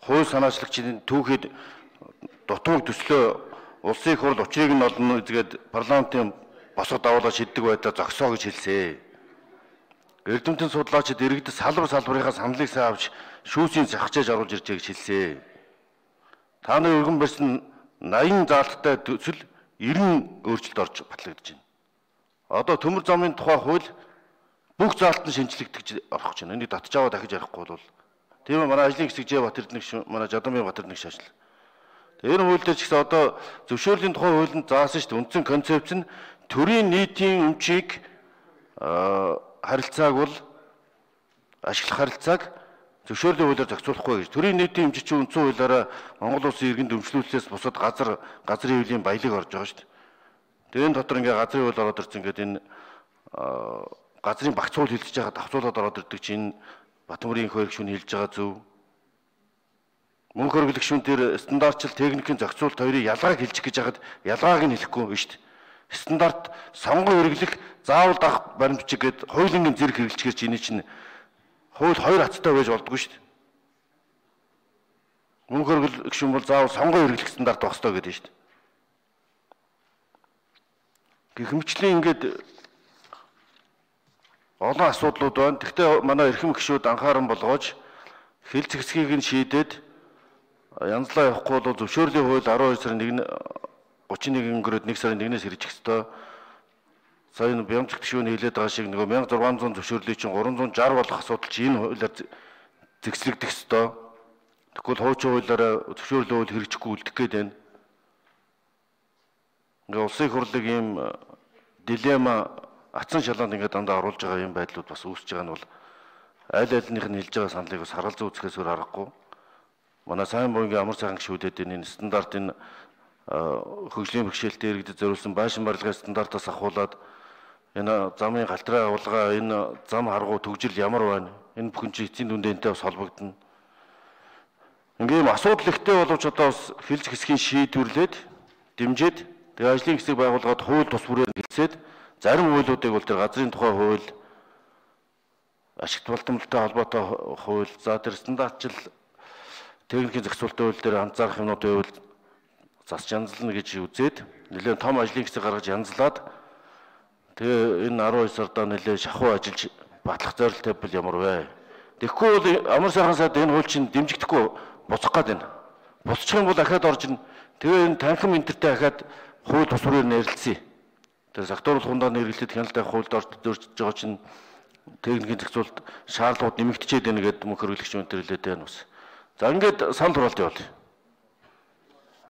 хууль санаачлагчдын түүхэд дутууг төслөө улсын их хурл учрыг нь олно эзгээд парламентын босоод аваад шийддэг байдлаа зогсоо гэж хэлсэн. Эрдэмтэн судлаачид иргэдэд салбарынхаа саналыг сайн авч шүүсийн захижээж оруулж ирж байгаа гэж хэлсэн. Та нарын өргөн барьсан 80 заалттай төсөл 90 өөрчлөлт орж батлагдаж байна. Одоо төмөр замын тухай хууль бүх заалт нь шинжлэгдэж орох гэж байна. Энийг татж аваа дахиж ярихгүй бол тийм манай ажлын хэсэг Бат Эрдэнэ манай Жадамын Бат Эрдэнэ шашил. Тэр хууль дээр ч гэсэн одоо зөвшөөрлийн тухай хуулинд заасан шүү дээ. Үндсэн концепц нь төрийн нийтийн өмчийг харилцааг бол ашиглах харилцааг зөвшөөрлийн хуулиар зохицуулахгүй гэж. Төрийн нийтийн өмч чинь үндсэн хуулиараа Монгол улсын иргэнд өмчлүүлснээс бусад газрын хуулийн баялаг орж байгаа шүү дээ. Тэрийн дотор ингээ газрын хууль ороод ирсэн гэдэг энэ газрын багц хууль хэлж байгаа давцуулаад ороод ирдэг чинь Батмөрийн их хөргөшүүн хэлж байгаа зөв. Мөнх хөргөлгшүүн дээр стандартчил техникийн зохицуулт хоёрын ялгааг хэлчих гэж хахад ялгааг нь хэлэхгүй биш шүү дээ. Стандарт сонгон хэрэглэх заавал дах баримтчиг гээд хуулийн зэрэг хэрэглэчихэр чи энэ чинь хууль хоёр хацтай байж болдгоо шүү дээ. Мөнх хөргөлгшүүн бол заавал сонгон хэрэглэх стандарт байх ёстой гэдэг шүү дээ. Гэхмэчлэн ингээд олон асуудлууд байна. Гэхдээ манай эрхэм гишүүд анхааран болгоож хил зэгсгийг нь шийдээд янзлаа явахгүй бол зөвшөөрлийн хууль 12 сарын 31 өнгөрөөд 1 сарын 1-ээс ирэх ёстой. Сая энэ Бямцэг гишүүн хэлээд байгаа шиг нөгөө 1600 зөвшөөрлийг чинь 360 болох асуудал чинь энэ хуулиар зэгслэгдэх ёстой. Тэгвэл хуучин хуулиараа зөвшөөрлийн хууль хэрэгжихгүй үлдэх гээд байна. Ингээ улсын их хурлыг ийм дилемма атсан шалганд ингээ дандаа оруулж байгаа юм байдлууд бас үүсэж байгаа нь бол аль альнийх нь хэлж байгаа саналыг бас харгалзуу үзэхээс өөр аргагүй. Манай сайн буйнгийн амар сайхан гишүүдэд энэ стандартын хөгжлийн бэрхшээлтэй иргэдэд зориулсан байшин барилгын стандартаас ахуулаад энэ замын галтраа авалгаа энэ зам харгуу төгжил ямар байна? Энэ бүхэн чинь эцсийн дүндэнтэй бас холбогдно. Ингээм асуудал ихтэй боловч одоо бас хилж хэсгийн шийдвэрлээд дэмжиж тэгээ ажлын хэсэг байгуулгаад хууль тус бүрээр хэлсээд зарим хуулиудыг бол тэр газрын тухай хууль, ашигт болтомлолтой холбоотой хууль, за тэр стандартчил техникийн зохицуулалтын хууль дээр анзаарах юмнуудын хууль засч янзлна гэж үзээд нэлээд том ажлын хэсэг гаргаж янзлаад тэгээ энэ 12 сардаа нэлээд шахуу ажиллаж батлах зорилттой бол ямар вэ? Тэгэхгүй бол амар сайхан сайд энэ хууль чинь дэмжигдэхгүй буцах гээд байна. Буцчих юм бол дахиад орж ин тэгээ энэ танхим энтертэй дахиад хууль тус бүрээр нэрлэлцээ. Тэр сакторал хундаа нэрлэлтэд хяналттай хуульд орж дөржиж байгаа чинь техникийн зохицуулалт шаардлагууд нэмэгдчихэд байна гэдэг мөнх хөргөлөгч өнтөрлөөд байна бас. За ингээд санал хураалт явуулъя.